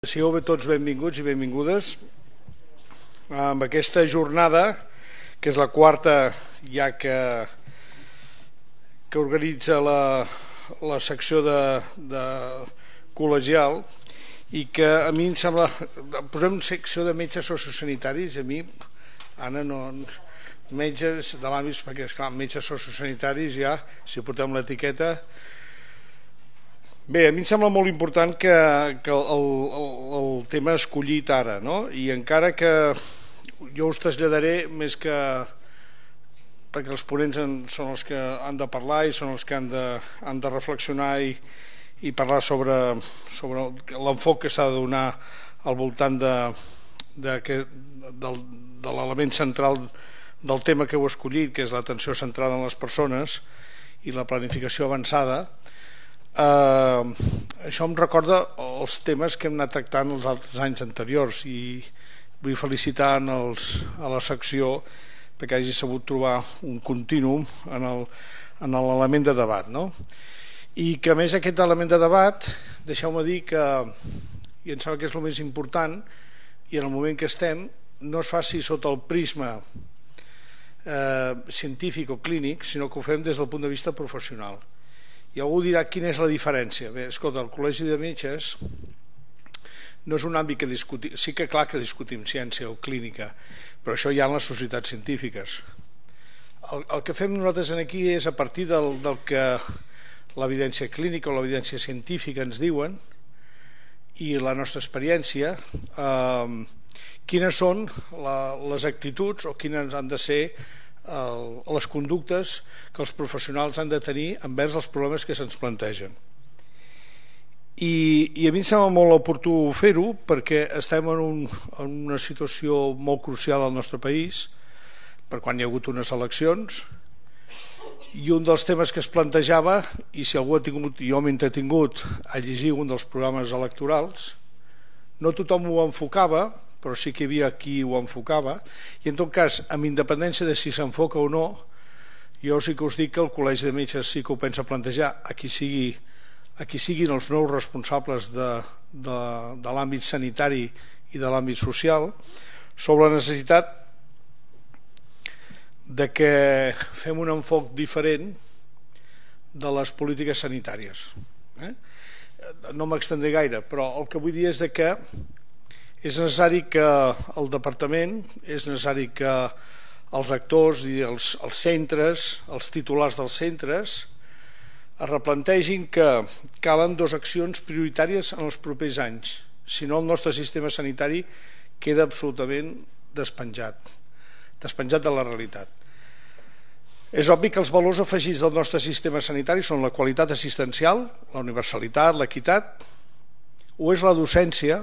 Sigueu tots benvinguts i benvingudes amb aquesta jornada, que és la quarta ja que organitza la secció de col·legial, i que a mi em sembla, posem secció de metges sociosanitaris, a mi, Anna, no, metges de l'àmbit, perquè esclar, metges sociosanitaris ja, si portem l'etiqueta. Bé, a mi em sembla molt important que el tema escollit ara, no? I encara que jo us traslladaré més que perquè els ponents són els que han de parlar i són els que han de reflexionar i parlar sobre l'enfoc que s'ha de donar al voltant de l'element central del tema que heu escollit, que és l'atenció centrada en les persones i la planificació avançada. Això em recorda els temes que hem anat tractant els altres anys anteriors, i vull felicitar a la secció perquè hagi sabut trobar un contínuum en l'element de debat, no? I que a més aquest element de debat, deixeu-me dir que, i em sembla que és el més important, i en el moment que estem, no es faci sota el prisma científic o clínic, sinó que ho fem des del punt de vista professional. I algú dirà quina és la diferència. Bé, escolta, el Col·legi de Metges no és un àmbit que discutim, sí que clar que discutim ciència o clínica, però això hi ha en les societats científiques. El que fem nosaltres aquí és, a partir del que l'evidència clínica o l'evidència científica ens diuen i la nostra experiència, quines són les actituds o quines han de ser les conductes que els professionals han de tenir envers els problemes que se'ns plantegen. I a mi em sembla molt oportú fer-ho perquè estem en una situació molt crucial al nostre país, per quan hi ha hagut unes eleccions, i un dels temes que es plantejava, i si algú ha tingut, jo m'he entretingut a llegir un dels programes electorals, no tothom ho enfocava, però sí que hi havia qui ho enfocava, i en tot cas, amb independència de si s'enfoca o no, jo sí que us dic que el Col·legi de Metges sí que ho pensa plantejar a qui siguin els nous responsables de l'àmbit sanitari i de l'àmbit social, sobre la necessitat de que fem un enfoc diferent de les polítiques sanitàries. No m'extendré gaire, però el que vull dir és que és necessari que el departament, és necessari que els actors i els centres, els titulars dels centres, es replantegin que calen dues accions prioritàries en els propers anys, si no el nostre sistema sanitari queda absolutament despenjat de la realitat. És obvi que els valors afegits del nostre sistema sanitari són la qualitat assistencial, la universalitat, l'equitat, o és la docència,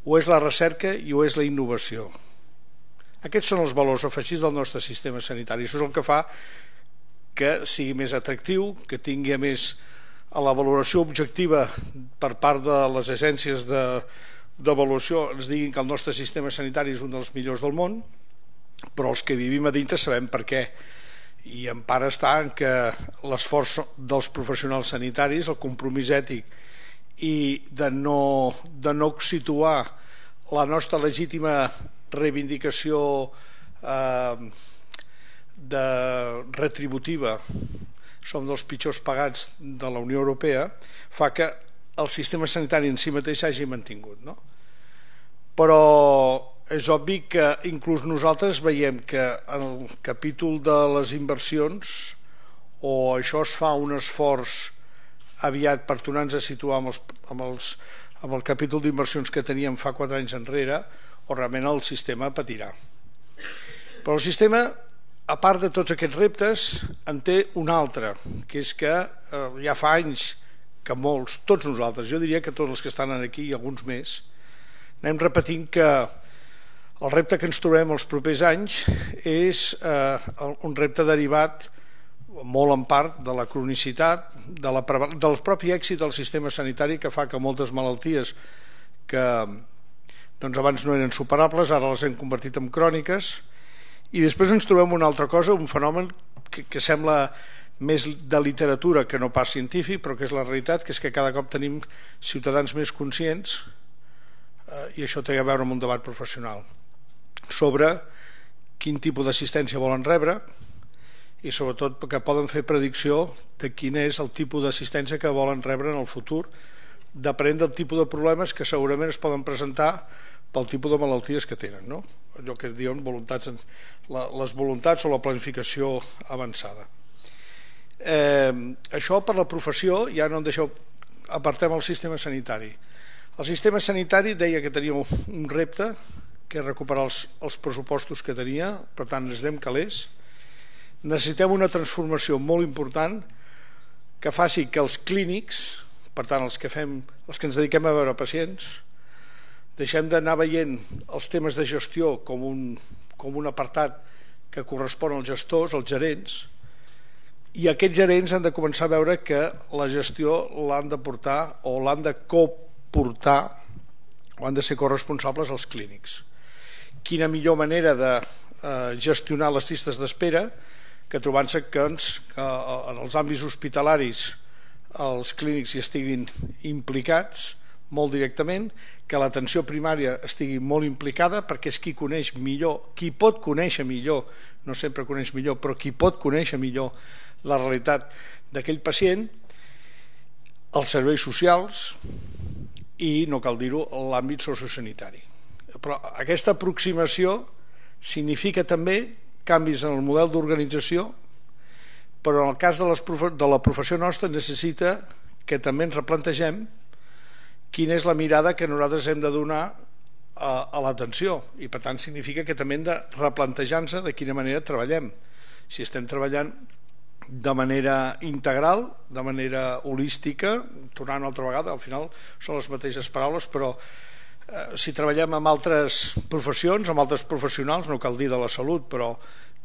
o és la recerca i o és la innovació. Aquests són els valors afegits del nostre sistema sanitari. Això és el que fa que sigui més atractiu, que tingui a més a la valoració objectiva per part de les agències d'avaluació ens diguin que el nostre sistema sanitari és un dels millors del món, però els que vivim a dintre sabem per què, i en part està en que l'esforç dels professionals sanitaris, el compromís ètic i de no situar la nostra legítima reivindicació retributiva, som dels pitjors pagats de la Unió Europea, fa que el sistema sanitari en si mateix s'hagi mantingut, no? Però és obvi que inclús nosaltres veiem que en el capítol de les inversions, o això es fa un esforç aviat per tornar-nos a situar amb el capítol d'inversions que teníem fa 4 anys enrere, o realment el sistema patirà. Però el sistema, a part de tots aquests reptes, en té un altre, que és que ja fa anys que molts, tots nosaltres, jo diria que tots els que estan aquí i alguns més, anem repetint que el repte que ens trobem els propers anys és un repte derivat molt en part de la cronicitat, del propi èxit del sistema sanitari, que fa que moltes malalties que abans no eren superables ara les hem convertit en cròniques, i després ens trobem una altra cosa, un fenomen que sembla més de literatura que no pas científic, però que és la realitat, que és que cada cop tenim ciutadans més conscients i això té a veure amb un debat professional, sobre quin tipus d'assistència volen rebre i sobretot perquè poden fer predicció de quin és el tipus d'assistència que volen rebre en el futur, depenent del tipus de problemes que segurament es poden presentar pel tipus de malalties que tenen, no? Allò que es diuen les voluntats o la planificació avançada. Això per la professió, ja no em deixeu, apartem el sistema sanitari. El sistema sanitari deia que tenia un repte, que és recuperar els pressupostos que tenia, per tant necessitem calés. Necessitem una transformació molt important que faci que els clínics, per tant els que ens dediquem a veure pacients, deixem d'anar veient els temes de gestió com un apartat que correspon als gestors, als gerents, i aquests gerents han de començar a veure que la gestió l'han de portar o l'han de coportar o han de ser corresponsables als clínics. Quina millor manera de gestionar les llistes d'espera que trobant-se que en els àmbits hospitalaris els clínics hi estiguin implicats molt directament, que l'atenció primària estigui molt implicada, perquè és qui coneix millor, qui pot conèixer millor, no sempre coneix millor, però qui pot conèixer millor la realitat d'aquell pacient, els serveis socials i, no cal dir-ho, l'àmbit sociosanitari. Però aquesta aproximació significa també canvis en el model d'organització, però en el cas de la professió nostra necessita que també ens replantegem quina és la mirada que nosaltres hem de donar a l'atenció, i per tant significa que també hem de replantejar-nos de quina manera treballem, si estem treballant de manera integral, de manera holística, tornant una altra vegada, al final són les mateixes paraules, però si treballem amb altres professions, amb altres professionals, no cal dir de la salut, però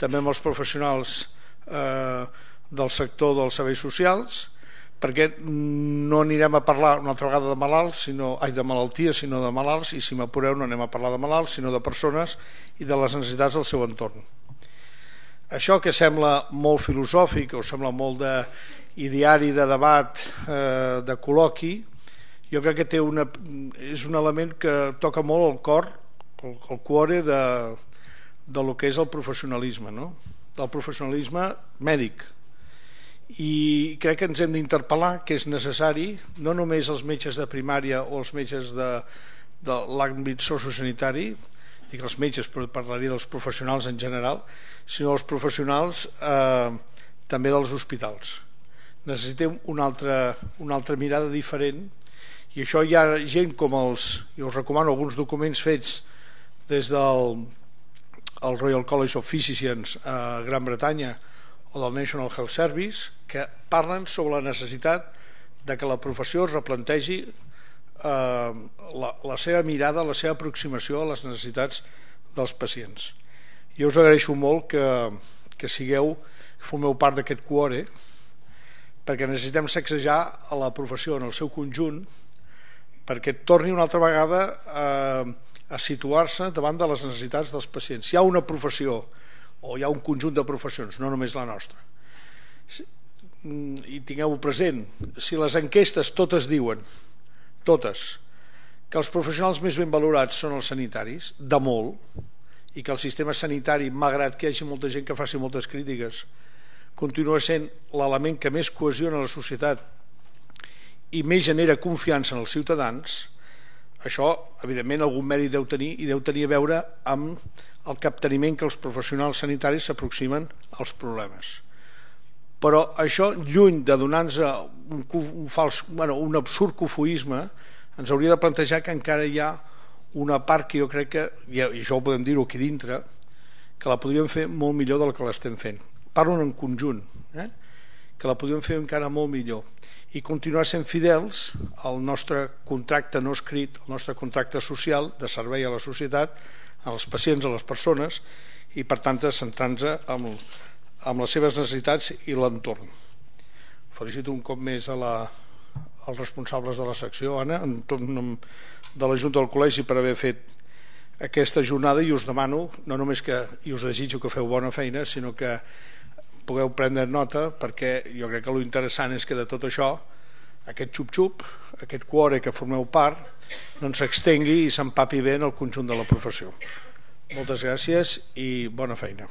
també amb els professionals del sector dels serveis socials, perquè no anirem a parlar una altra vegada de malalts, de malalties, sinó de malalts, i si m'apureu no anem a parlar de malalts, sinó de persones i de les necessitats del seu entorn. Això que sembla molt filosòfic o sembla molt d'ideari, de debat, de col·loqui, jo crec que és un element que toca molt el cor, el cuore de lo que és el professionalisme, no? Del professionalisme mèdic. I crec que ens hem d'interpel·lar que és necessari, no només els metges de primària o els metges de l'àmbit sociosanitari, dic els metges, però parlaria dels professionals en general, sinó els professionals també dels hospitals. Necessitem una altra mirada diferent, i això hi ha gent com jo us recomano alguns documents fets des del Royal College of Physicians a Gran Bretanya o del National Health Service, que parlen sobre la necessitat de que la professió es replantegi la seva mirada, la seva aproximació a les necessitats dels pacients. Jo us agraeixo molt que formeu part d'aquest cuore, perquè necessitem sacsejar a la professió en el seu conjunt perquè torni una altra vegada a situar-se davant de les necessitats dels pacients. Hi ha una professió o hi ha un conjunt de professions, no només la nostra, i tingueu-ho present, si les enquestes totes diuen, totes, que els professionals més ben valorats són els sanitaris, de molt, i que el sistema sanitari, malgrat que hi hagi molta gent que faci moltes crítiques, continua sent l'element que més cohesiona la societat i més genera confiança en els ciutadans, això evidentment algun mèrit deu tenir, i deu tenir a veure amb el capteniment que els professionals sanitaris s'aproximen als problemes. Però això, lluny de donar-nos un absurd cofoisme, ens hauria de plantejar que encara hi ha una part que jo crec que, i això ho podem dir-ho aquí dintre, que la podríem fer molt millor del que l'estem fent. Parlo en conjunt, que la podríem fer encara molt millor, i continuar sent fidels al nostre contracte no escrit, al nostre contracte social de servei a la societat, als pacients, a les persones, i per tant centrant-nos en les seves necessitats i l'entorn. Felicito un cop més als responsables de la secció, Anna, en nom de la Junta del Col·legi, per haver fet aquesta jornada, i us demano, no només i us desitjo que feu bona feina, sinó que pugueu prendre nota, perquè jo crec que l'interessant és que de tot això aquest xup-xup, aquest cuore que formeu part, doncs s'extengui i s'empapi bé en el conjunt de la professió. Moltes gràcies i bona feina.